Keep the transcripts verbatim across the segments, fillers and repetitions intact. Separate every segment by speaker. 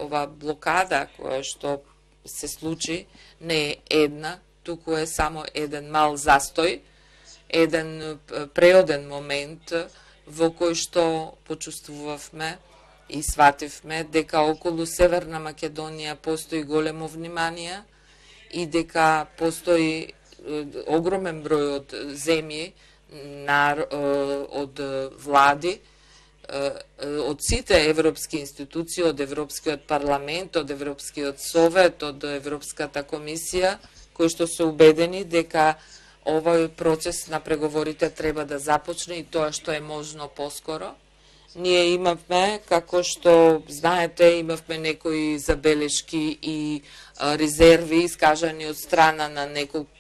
Speaker 1: ова блокада која што се случи не е една, туку е само еден мал застој, еден преоден момент во кој што почувствувавме и свативме дека околу Северна Македонија постои големо внимание и дека постои огромен број од земји, од влади, од сите европски институции, од Европскиот парламент, од Европскиот совет, од Европската комисија, кои што се убедени дека овој процес на преговорите треба да започне и тоа што е можно поскоро. Ние имавме, како што знаете, имавме некои забелешки и резерви искажани од страна на неколку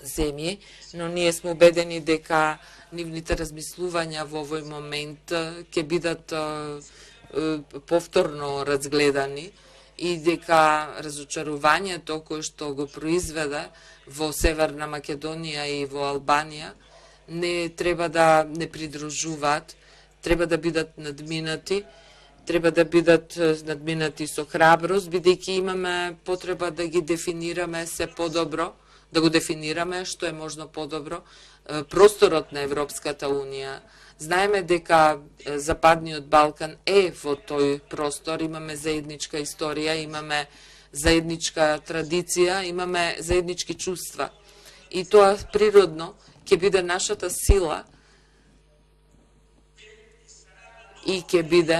Speaker 1: земји, но ние сме убедени дека нивните размислувања во овој момент ќе бидат повторно разгледани и дека разочарувањето кое што го произведе во Северна Македонија и во Албанија не треба да не придружуваат, треба да бидат надминати, треба да бидат надминати со храброст, бидејќи имаме потреба да ги дефинираме се подобро, да го дефинираме што е можно подобро просторот на Европската Унија. Знаеме дека Западниот Балкан е во тој простор, имаме заедничка историја, имаме заедничка традиција, имаме заеднички чувства. И тоа природно ќе биде нашата сила и ќе биде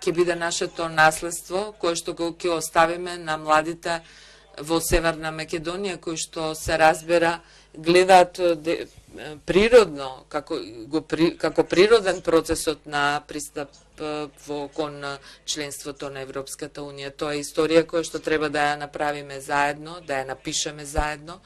Speaker 1: ќе биде нашето наследство кое што го ќе оставиме на младите во Северна Македонија, кои што се разбира гледаат природно како го како природен процесот на пристап во кон членството на Европската Унија. Тоа е историја која што треба да ја направиме заедно, да ја напишеме заедно.